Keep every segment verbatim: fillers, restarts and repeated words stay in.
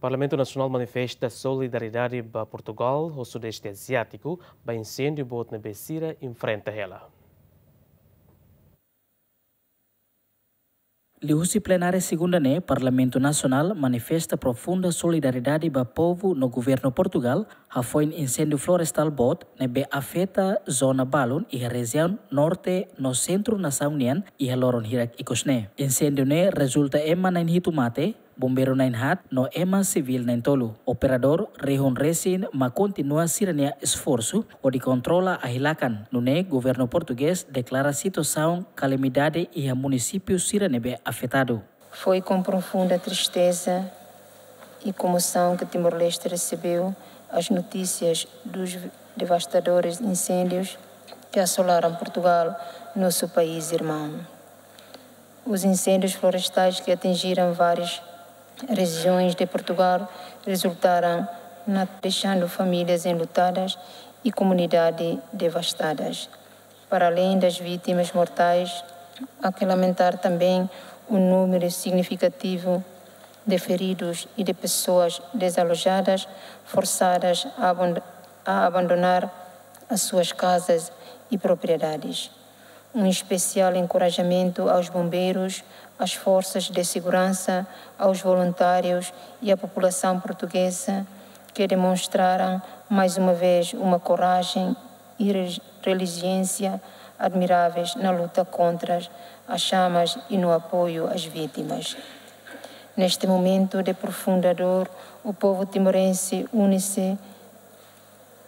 Parlamentu Nasionál manifesta solidariedade ba Portugal ho Sudeste Aziátiku ba inséndiu boot ne'ebé sira enfrenta hela. Liuhusi plenária segunda ne'e, Parlamentu Nasionál manifesta profunda solidariedade ba povu no governu Portugal hafoin inséndiu florestál boot ne'ebé afeta zona balun iha rejiaun norte no sentru nasaun nian iha loron hirak ikus ne'e. Inséndiu ne'e rezulta ema na'in hitu mate, bombeiru na'in haat no ema sivíl na'in tolu. Operadór rihun resin mak kontinua sira-nia esforsu hodi kontrola ahi-lakan, nune'e governu portugés deklara situasaun kalamidade iha munisípiu sira ne'ebé afetadu. Foi com profunda tristeza e comoção que Timor-Leste recebeu as notícias dos devastadores incêndios que assolaram Portugal, nosso país irmão. Os incêndios florestais que atingiram várias regiões de Portugal resultaram na, deixando famílias enlutadas e comunidades devastadas. Para além das vítimas mortais, há que lamentar também o número significativo de feridos e de pessoas desalojadas, forçadas a aband-, a abandonar as suas casas e propriedades. Um especial encorajamento aos bombeiros, às forças de segurança, aos voluntários e à população portuguesa que demonstraram mais uma vez uma coragem e re-, resiliência admiráveis na luta contra as chamas e no apoio às vítimas. Neste momento de profunda dor, o povo timorense une-se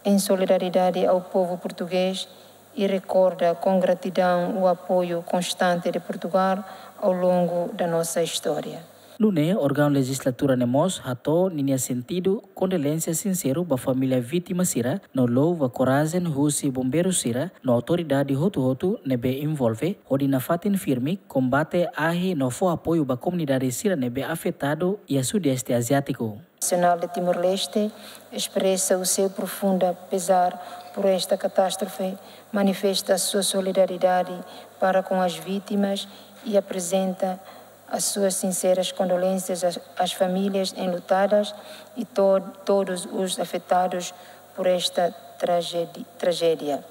em solidariedade ao povo português e recorda com gratidão o apoio constante de Portugal ao longo da nossa história. Nune'e, órgaun lejizlatura ne'e mós hato'o ninia sentidu kondolénsia sinseru ba família vítima sira no louva korajen husi bombeiru sira no autoridade hotu-hotu ne'ebé envolve hodi nafatin firme kombate ahi no fó apoiu ba komunidade sira ne'ebé afetadu iha Sudeste Aziátiku. Nacional de Timor-Leste expressa o seu profundo pesar por esta catástrofe, manifesta a sua solidariedade para com as vítimas e apresenta as suas sinceras condolências às, às famílias enlutadas e to-, todos os afetados por esta tragedi-, tragédia.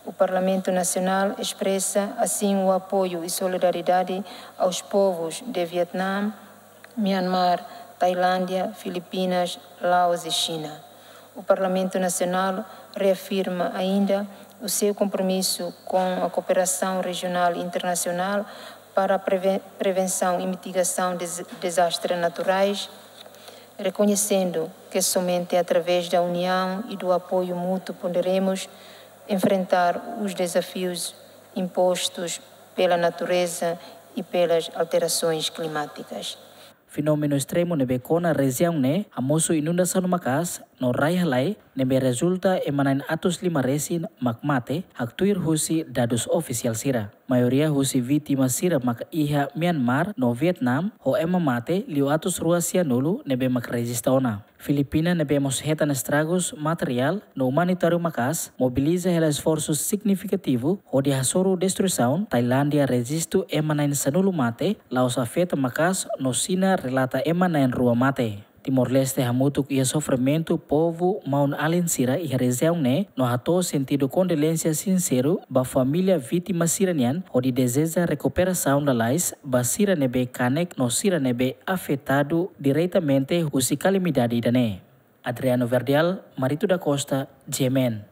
O Parlamento Nacional expressa, assim, o apoio e solidariedade aos povos de Vietnã, Myanmar, Tailândia, Filipinas, Laos e China. O Parlamento Nacional reafirma ainda o seu compromisso com a cooperação regional e internacional para a preve-, prevenção e mitigação de des-, desastres naturais, reconhecendo que somente através da união e do apoio mútuo poderemos enfrentar os desafios impostos pela natureza e pelas alterações climáticas. Fenómenu estremu ne'ebé kona rejiaun ne'e hamosu inundasaun maka'as no rai halai ne'ebé rezulta ema na'in atus lima resin mak mate, haktuir husi dadus ofisiál sira. Maioria husi vítima sira mak iha Myanmar no Vietnam, ho ema mate liu atus rua sianulu ne'ebé mak rejista ona. Filipina ne'ebé mós hetan estragus materiál no umanitáriu maka'as mobiliza hela esforsu signifikativu hodi hasoru destruisaun. Tailándia rejistu ema na'in sanulu mate, Laos afeta maka'as no Xina relata ema na'in rua mate. Timor-Leste hamutuk iha sofrimentu povu maun-alin sira iha rejiaun ne'e no hato'o sentidu kondolénsia sinseru ba família vítima sira-nian hodi dezeja rekuperasaun lalais ba sira ne'ebé kanek no sira ne'ebé afetadu diretamente husi kalamidade ida-ne'e. Adriano Verdial, Marito da Costa, G M N.